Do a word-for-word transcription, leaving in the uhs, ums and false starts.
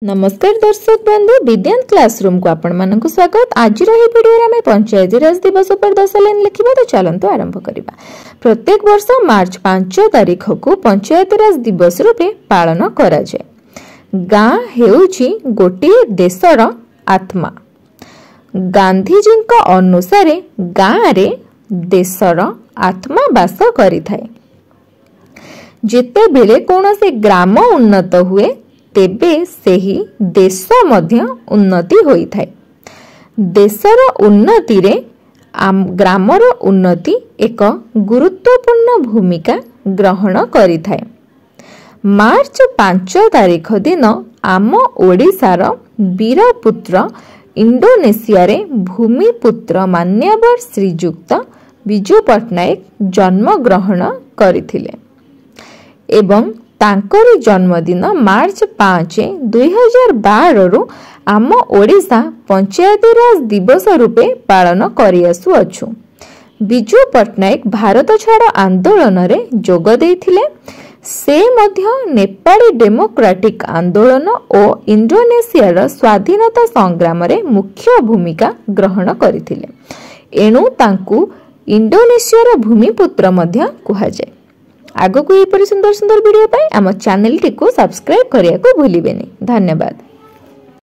ନମସ୍କାର ଦର୍ଶକ ବନ୍ଧୁ, ବିଦ୍ୟାନ୍ତ କ୍ଲାସରୁମକୁ ଆପଣମାନଙ୍କୁ ସ୍ୱାଗତ। ଆଜିର ଏହି ଭିଡ଼ିଓରେ ଆମେ ପଞ୍ଚାୟତିରାଜ ଦିବସ ଉପରେ ଦଶ ଲାଇନ୍ ଲେଖିବା। ତ ଚାଲନ୍ତୁ ଆରମ୍ଭ କରିବା। ପ୍ରତ୍ୟେକ ବର୍ଷ ମାର୍ଚ୍ଚ ପାଞ୍ଚ ତାରିଖକୁ ପଞ୍ଚାୟତିରାଜ ଦିବସ ରୂପେ ପାଳନ କରାଯାଏ। ଗାଁ ହେଉଛି ଗୋଟିଏ ଦେଶର ଆତ୍ମା। ଗାନ୍ଧିଜୀଙ୍କ ଅନୁସାରେ ଗାଁରେ ଦେଶର ଆତ୍ମା ବାସ କରିଥାଏ। ଯେତେବେଳେ କୌଣସି ଗ୍ରାମ ଉନ୍ନତ ହୁଏ, ତେବେ ସେହି ଦେଶ ମଧ୍ୟ ଉନ୍ନତି ହୋଇଥାଏ। ଦେଶର ଉନ୍ନତିରେ ଗ୍ରାମର ଉନ୍ନତି ଏକ ଗୁରୁତ୍ୱପୂର୍ଣ୍ଣ ଭୂମିକା ଗ୍ରହଣ କରିଥାଏ। ମାର୍ଚ୍ଚ ପାଞ୍ଚ ତାରିଖ ଦିନ ଆମ ଓଡ଼ିଶାର ବୀରପୁତ୍ର, ଇଣ୍ଡୋନେସିଆରେ ଭୂମିପୁତ୍ର ମାନ୍ୟବର ଶ୍ରୀଯୁକ୍ତ ବିଜୁ ପଟ୍ଟନାୟକ ଜନ୍ମଗ୍ରହଣ କରିଥିଲେ ଏବଂ ତାଙ୍କରି ଜନ୍ମଦିନ ମାର୍ଚ୍ଚ ପାଞ୍ଚ ଦୁଇହଜାର ବାରରୁ ଆମ ଓଡ଼ିଶା ପଞ୍ଚାୟତିରାଜ ଦିବସ ରୂପେ ପାଳନ କରିଆସୁଅଛୁ। ବିଜୁ ପଟ୍ଟନାୟକ ଭାରତ ଛାଡ଼ ଆନ୍ଦୋଳନରେ ଯୋଗ ଦେଇଥିଲେ। ସେ ମଧ୍ୟ ନେପାଳୀ ଡେମୋକ୍ରାଟିକ୍ ଆନ୍ଦୋଳନ ଓ ଇଣ୍ଡୋନେସିଆର ସ୍ୱାଧୀନତା ସଂଗ୍ରାମରେ ମୁଖ୍ୟ ଭୂମିକା ଗ୍ରହଣ କରିଥିଲେ। ଏଣୁ ତାଙ୍କୁ ଇଣ୍ଡୋନେସିଆର ଭୂମିପୁତ୍ର ମଧ୍ୟ କୁହାଯାଏ। ଆଗକୁ ଏହିପରି ସୁନ୍ଦର ସୁନ୍ଦର ଭିଡ଼ିଓ ପାଇଁ ଆମ ଚ୍ୟାନେଲଟିକୁ ସବସ୍କ୍ରାଇବ୍ କରିବାକୁ ଭୁଲିବେନି। ଧନ୍ୟବାଦ।